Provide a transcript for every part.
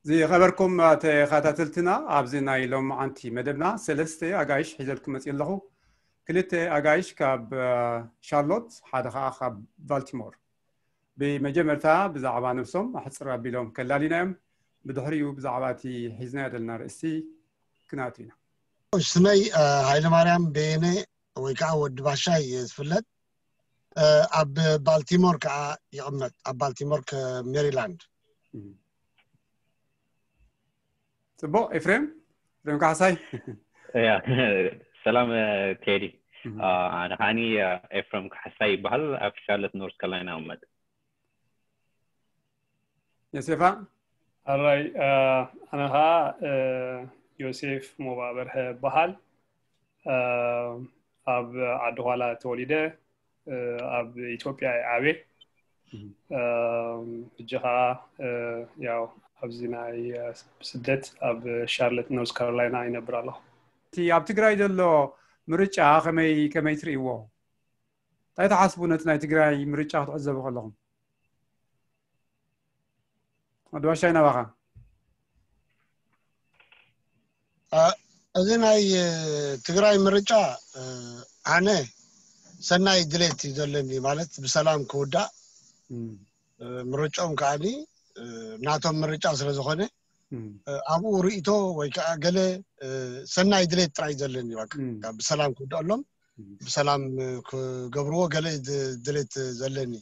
ዝኸበርኩም ተኸታተልትና፣ ኣብዚ ናይ ሎማዓንቲ መደብና ሰለስተ ኣጋይሽ ሒዘልኩም መፅእ ኣለኹ። ክልተ ኣጋይሽ ካብ ሻርሎት፣ ሓደ ከዓ ካብ ባልቲሞር። ብመጀመርታ ብዛዕባ ነብሶም ኣሕፅር ኣቢሎም ከላሊና እዮም። ብድሕሪኡ ብዛዕባ እቲ ሒዝናዮ ዘለና ርእስቲ ክነኣቱ ኢና። ስመይ ሃይለማርያም በየነ ወይ ከዓ ወዲ ባሻይ ዝፍለጥ፣ ኣብ ባልቲሞር ከዓ ይቕመጥ፣ ኣብ ባልቲሞር ሜሪላንድ። ፅቡቕ። ኤፍሬም፣ ኤፍሬም ካሕሳይ። ያ ሰላም ቴዲ። ኣነ ከዓኒ ኤፍሬም ካሕሳይ ይበሃል፣ ኣብ ሻርለት ኖርት ካሮላይና እቕመጥ። ዮሴፋ። ኣራይ፣ ኣነ ከዓ ዮሴፍ ሞባ በርሀ ይበሃል። ኣብ ዓዲ ኳላ ተወሊደ፣ ኣብ ኢትዮጵያ እየ ዓብየ። ሕጂ ከዓ ያው ኣብዚ ናይ ስደት ኣብ ሻርለት ኖርዝ ካሮላይና ይነብር ኣለኹ። እቲ ኣብ ትግራይ ዘሎ ምርጫ ከመይ ከመይ ትርእይዎ? እንታይ ትሓስቡ ነቲ ናይ ትግራይ ምርጫ ክትዕዘቡ ከለኹም? ወዲ ባሻይ ናባኻ። እዚ ናይ ትግራይ ምርጫ ኣነ ሰናይ ድሌት እዩ ዘለኒ፣ ማለት ብሰላም ክውዳእ። ምርጫኦም ከዓኒ ናቶም ምርጫ ስለ ዝኾነ ኣብኡ ርእይቶ ወይ ከዓ ገለ ሰናይ ድሌት ጥራይ ዘለኒ፣ ብሰላም ክውዳእሎም፣ ብሰላም ክገብርዎ ገለ ድሌት ዘለኒ።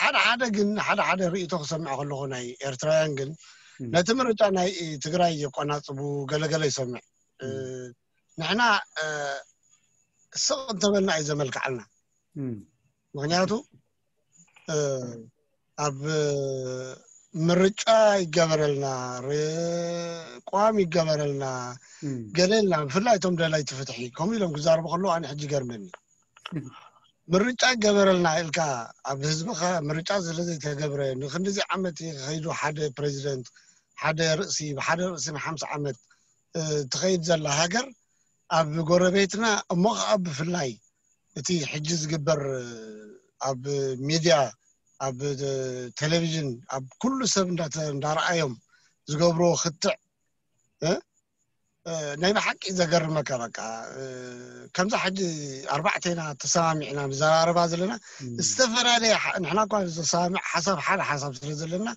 ሓደ ሓደ ግን ሓደ ሓደ ርእይቶ ክሰምዕ ከለኹ ናይ ኤርትራውያን ግን ነቲ ምርጫ ናይ ትግራይ የቆናጽቡ ገለገለ ይሰምዕ። ንሕና ስቕ እንተበልና እዩ ዘመልክዓልና። ምክንያቱ ኣብ ምርጫ ይገበረልና፣ ቋም ይገበረልና፣ ገለልና፣ ብፍላይ እቶም ደለይቲ ፍትሒ ከምኡ ኢሎም ክዛረቡ ከለዉ ኣነ ሕጂ ይገርመኒ። ምርጫ ይገበረልና ኢልካ ኣብ ህዝብኻ ምርጫ ስለዘይተገብረ ንክንድዚ ዓመት ከይዱ ሓደ ፕሬዚደንት ሓደ ርእሲ ብሓደ ርእሲ ንሓምሳ ዓመት ትኸይድ ዘላ ሃገር ኣብ ጎረቤትና እሞ ከዓ ብፍላይ እቲ ሕጂ ዝግበር ኣብ ሚድያ ኣብ ቴሌቪዥን ኣብ ኩሉ ሰብ እንዳረኣዮም ዝገብርዎ ክትዕ ናይ ብሓቂ ዘገርመካ። በቃ ከምዛ ሕጂ ኣርባዕቴና ተሰማሚዕና ንዘራረባ ዘለና ዝተፈላለየ ንሕና እኳ ዘሰማሚዕ ሓሳብ ሓደ ሓሳብ ስለ ዘለና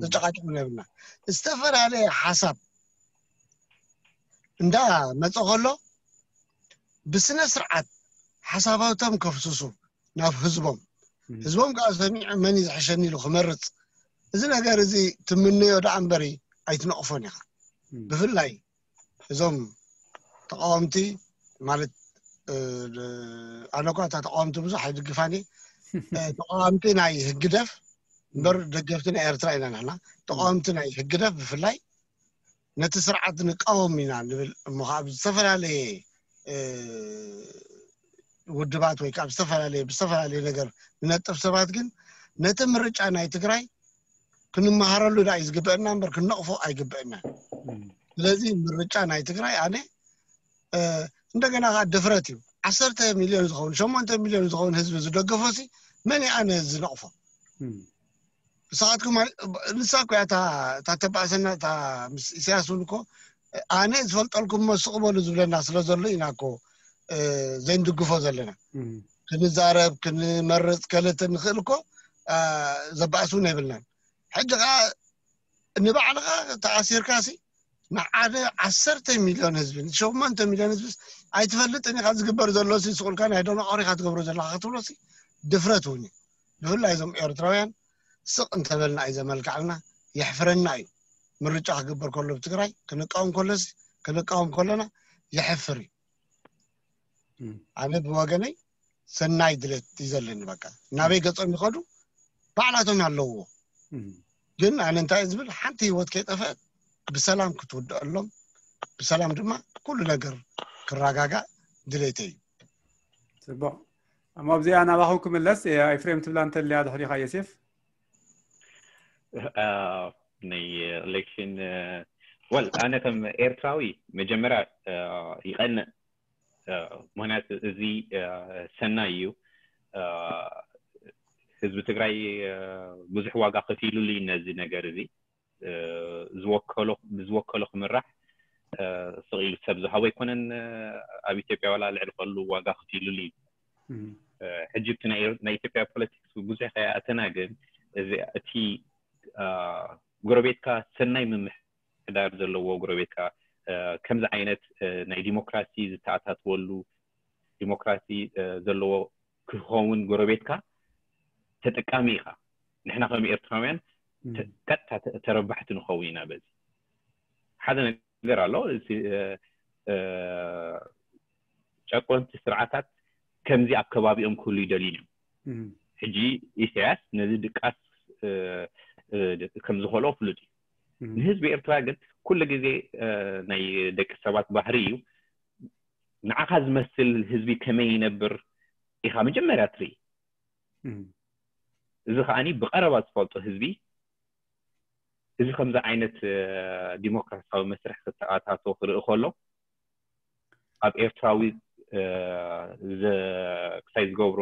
ዘጨቃጭቁ ነብና ዝተፈላለየ ሓሳብ እንዳ መፀ ከሎ ብስነ ስርዓት ሓሳባቶም ከፍስሱ ናብ ህዝቦም ህዝቦም ከዓ ሰሚዑ መን እዩ ዝሕሸኒ ኢሉ ክመርፅ እዚ ነገር እዚ ትምነዮ ደኣ እምበሪ ኣይትነቕፎን ኢኻ። ብፍላይ እዞም ተቃወምቲ ማለት ኣነ እኳ እታ ተቃወምቲ ብዙሕ ኣይድግፋን እየ። ተቃወምቲ ናይ ህግደፍ እምበር ደገፍቲ ናይ ኤርትራ ኢና ንሕና። ተቃወምቲ ናይ ህግደፍ ብፍላይ ነቲ ስርዓት ንቃወም ኢና ንብል እሞ ከዓ ብዝተፈላለየ ውድባት ወይ ከዓ ብዝተፈላለየ ብዝተፈላለየ ነገር ንነጥፍ ሰባት ግን ነቲ ምርጫ ናይ ትግራይ ክንመሃረሉ ዳ እዩ ዝግበአና እምበር ክንነቕፎ ኣይግበአናን። ስለዚ ምርጫ ናይ ትግራይ ኣነ እንደገና ከዓ ድፍረት እዩ። ዓሰርተ ሚልዮን ዝኸውን ሸሞንተ ሚልዮን ዝኸውን ህዝቢ ዝደገፎ ሲ መን ኣነ ዝነቕፎ? ንስኻትኩም ንሳ እኮ እያ እታ ተባእሰና ምስ ኢሳያስ እውን እኮ ኣነ ዝፈልጠልኩም እሞ ስቕ በሉ ዝብለና ስለ ዘሎ ኢና እኮ ዘይንድግፎ ዘለና። ክንዛረብ ክንመርፅ ከለተ ንኽእል እኮ ዘባእስ እውን የብልናን። ሕጂ ከዓ ንባዕልኻ ተኣሲርካ ሲ ንሓደ ዓሰርተ ሚልዮን ህዝቢ ሸሞንተ ሚልዮን ህዝቢ ኣይትፈልጥን ኢኻ። ዝግበር ዘሎ ሲ ስቑልካ ናይ ደነቆር ኢኻ ትገብሮ ዘለኻ ክትብሎ ሲ ድፍረት እውን እዩ። ብፍላይ እዞም ኤርትራውያን ስቕ እንተበልና እዩ ዘመልክዓልና። የሕፍረና እዩ። ምርጫ ክግበር ከሎ ብትግራይ ክንቃወም ከሎሲ ክንቃወም ከሎና የሕፍር እዩ። ኣነ ብወገነይ ሰናይ ድሌት እዩ ዘለኒ። በቃ ናበይ ገጾም ይኸዱ ባዕላቶም ኣለውዎ። ግን ኣነ እንታይ ዝብል ሓንቲ ህይወት ከይጠፈአት ብሰላም ክትውደአሎም ብሰላም ድማ ኩሉ ነገር ክረጋጋእ ድሌተይ እዩ። ፅቡቕ። እሞ ኣብዚኣ ናባኹም ክምለስ ኤፍሬም ትብላ እንተልያ ድሕሪኻ ዮሴፍ። ናይ ኤሌክሽን ወል ኣነ ከም ኤርትራዊ መጀመርያ ይቐንእ ምክንያቱ እዚ ሰናይ እዩ። ህዝቢ ትግራይ ብዙሕ ዋጋ ከፊሉሉ እዩ ነዚ ነገር እዚ። ብዝወከሎ ብዝወከሎ ክምራሕ ስቕ ኢሉ ሰብ ዝሃቦ ኣይኮነን። ኣብ ኢትዮጵያ ዋላ ልዕሊ ከሉ ዋጋ ከፊሉሉ እዩ። ሕጂ እቲ ናይ ኢትዮጵያ ፖለቲክስ ብዙሕ ከይኣተና ግን እቲ ጎረቤትካ ሰናይ ምምሕዳር ዘለዎ ጎረቤትካ ከምዚ ዓይነት ናይ ዲሞክራሲ ዝተኣታትወሉ ዲሞክራሲ ዘለዎ ክኸውን ጎረቤትካ ተጠቃሚ ኢኻ። ንሕና ከም ኤርትራውያን ቀጥታ ተረባሕቲ ንኸውን ኢና። በዚ ሓደ ነገር ኣሎ። ጨቆንቲ ስርዓታት ከምዚ ኣብ ከባቢኦም ክህሉ ይደልዩ እዮም። ሕጂ ኢሳያስ ነዚ ድቃስ ከም ዝኸልኦ ፍሉጥ እዩ። ንህዝቢ ኤርትራ ግን ኩሉ ግዜ ናይ ደቂ ሰባት ባህሪ እዩ። ንዓኻ ዝመስል ህዝቢ ከመይ ይነብር ኢኻ መጀመርያ ትርኢ። እዚ ከዓኒ ብቐረባ ዝፈልጦ ህዝቢ እዚ ከምዚ ዓይነት ዲሞክራሲያዊ መስርሕ ክተኣታቶ ክርኢ ከሎ ኣብ ኤርትራዊ ክሳይ ዝገብሮ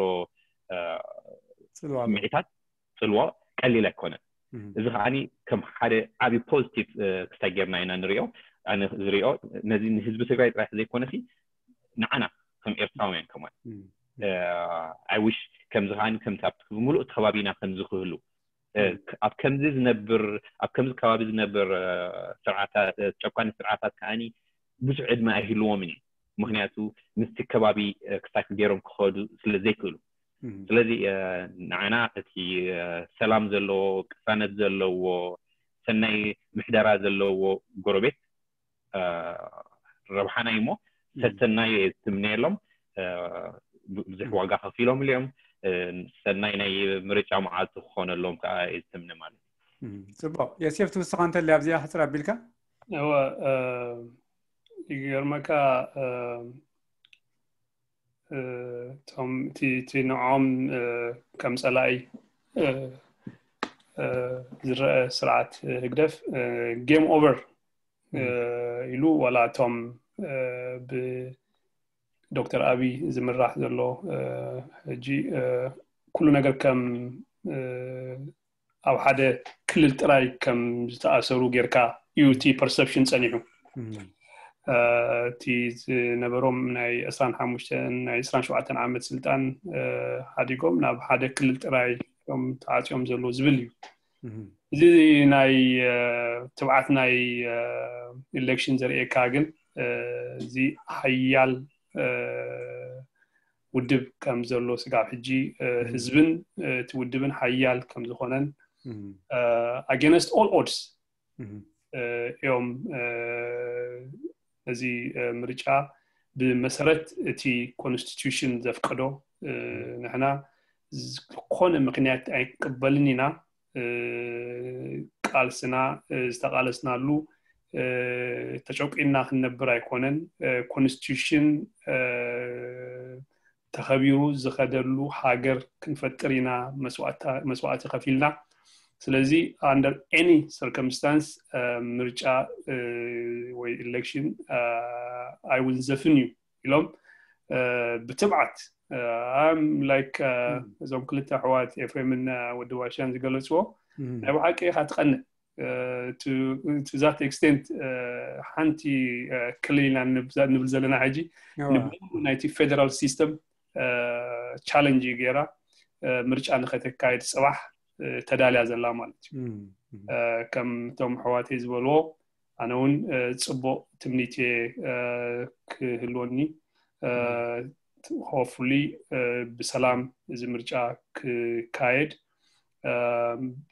ስምዒታት ጽልዎ ቀሊል ኣይኮነን። እዚ ከዓኒ ከም ሓደ ዓብዪ ፖዚቲቭ ክሳይ ጌርና ኢና ንሪኦ። ኣነ ዝሪኦ ነዚ ንህዝቢ ትግራይ ጥራሕ ዘይኮነሲ ንዓና ከም ኤርትራውያን ከማን ኣይ ዊሽ ከምዚ ከዓኒ ከምቲ ኣብቲ ብምሉእ እቲ ከባቢና ከምዚ ክህሉ ኣብ ከምዚ ዝነብር ኣብ ከምዚ ከባቢ ዝነብር ስርዓታት ጨቋኒ ስርዓታት ከዓኒ ብዙሕ ዕድመ ኣይህልዎምን እዩ። ምክንያቱ ምስቲ ከባቢ ክሳይ ገይሮም ክኸዱ ስለ ዘይክእሉ ስለዚ ንዓና እቲ ሰላም ዘለዎ ቅሳነት ዘለዎ ሰናይ ምሕደራ ዘለዎ ጎረቤት ረብሓና እዩ እሞ ሰሰናዩ እየ ዝትምነየሎም። ብዙሕ ዋጋ ከፊሎም እዮም። ሰናይ ናይ ምርጫ መዓልቲ ክኾነሎም ከዓ እየ ዝትምነ ማለት እዩ። ፅቡቅ። የሴፍ ትውስኻ እንተለ ኣብዚኣ ሕፅር ኣቢልካ እወ ይገርመካ እቶም እቲ ንዕኦም ከም ፀላኢ ዝረአ ስርዓት ህግደፍ ጌም ኦቨር ኢሉ ዋላ እቶም ብዶክተር ኣብይ ዝምራሕ ዘሎ ሕጂ ኩሉ ነገር ከም ኣብ ሓደ ክልል ጥራይ ከም ዝተኣሰሩ ጌርካ እዩ እቲ ፐርሰፕሽን ፀኒሑ። እቲ ዝነበሮም ናይ ዕስራን ሓሙሽተን ናይ ዕስራን ሸውዓተን ዓመት ስልጣን ሓዲጎም ናብ ሓደ ክልል ጥራይ እዮም ተዓፅዮም ዘለዉ ዝብል እዩ። እዚ ናይ ትብዓት ናይ ኢሌክሽን ዘርእየካ ግን እዚ ሓያል ውድብ ከም ዘሎ ስጋብ ሕጂ ህዝብን እቲ ውድብን ሓያል ከም ዝኾነን against all odds እዮም ነዚ ምርጫ ብመሰረት እቲ ኮንስቲቱሽን ዘፍቀዶ ንሕና ዝኾነ ምክንያት ኣይንቅበልን ኢና። ቃልስና ዝተቃለስናሉ ተጨቁና ክንነብር ኣይኮነን። ኮንስቲቱሽን ተኸቢሩ ዝኸደሉ ሃገር ክንፈጥር ኢና መስዋእቲ ከፊልና። ስለዚ under any circumstance ምርጫ ወይ ኢሌክሽን ኣይውንዘፍን እዩ ኢሎም ብትብዓት like እዞም ክልተ ኣሕዋት ኤፍሬምን ወዲ ዋሻን ዝገለፅዎ ናይ ብሓቂ ኢኻ ትቐንእ። To that extent ሓንቲ ክልል ኢና ንብል ዘለና ሕጂ ንብሉ ናይቲ ፌደራል ሲስተም ቻለንጅ እዩ ገይራ ምርጫ ንኸተካየድ ፅባሕ ተዳልያ ዘላ ማለት እዩ። ከም እቶም ኣሕዋተይ ዝበልዎ ኣነ እውን ፅቡቅ ትምኒት እየ ክህልወኒ። Hopefully ብሰላም እዚ ምርጫ ክካየድ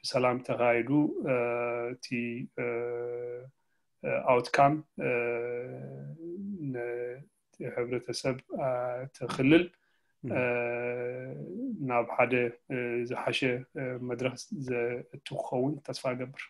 ብሰላም ተካይዱ እቲ ኣውትካም ንሕብረተሰብ እቲ ክልል ናብ ሓደ ዝሓሸ መድረክ ዘእቱ ክኸውን ተስፋ እገብር።